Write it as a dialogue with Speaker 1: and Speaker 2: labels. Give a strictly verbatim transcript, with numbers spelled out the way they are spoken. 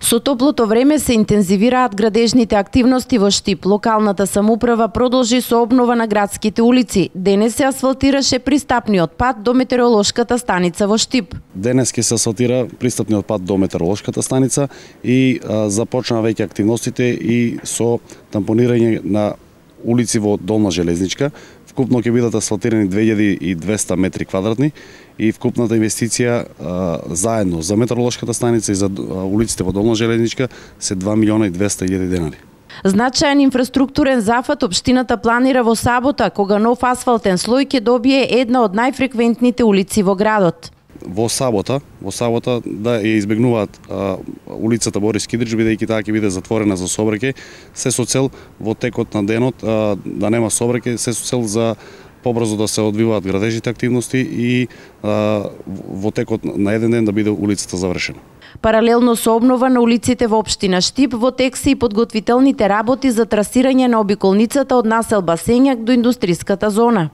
Speaker 1: Со топлото време се интензивираат градежните активности во Штип. Локалната самоуправа продолжи со обнова на градските улици. Денес се асфалтираше пристапниот пат до метеоролошката станица во Штип.
Speaker 2: Денес ќе се асфалтира пристапниот пат до метеоролошката станица и а, започнаа веќе активностите и со тампонирање на улици во Долна Железничка. Вкупно ќе бидат асфалтирани две илјади и двесте метри квадратни и вкупната инвестиција а, заедно за метеоролошката станица и за а, улиците во Долна Железничка се два милиона и двесте илјади денари.
Speaker 1: Значаен инфраструктурен зафат општината планира во сабота, кога нов асфалтен слој ќе добие една од најфреквентните улици во градот.
Speaker 2: Во сабота, во сабота да ја избегнуваат а, улицата Борис Кидрич, бидејќи таа ќе биде затворена за сообраќај, се со цел во текот на денот а, да нема сообраќај, се со цел за побрзо да се одвиваат градежните активности и а, во текот на еден ден да биде улицата завршена.
Speaker 1: Паралелно со обнова на улиците во општина Штип, во тек се и подготвителните работи за трасирање на обиколницата од населба Сењак до индустријската зона.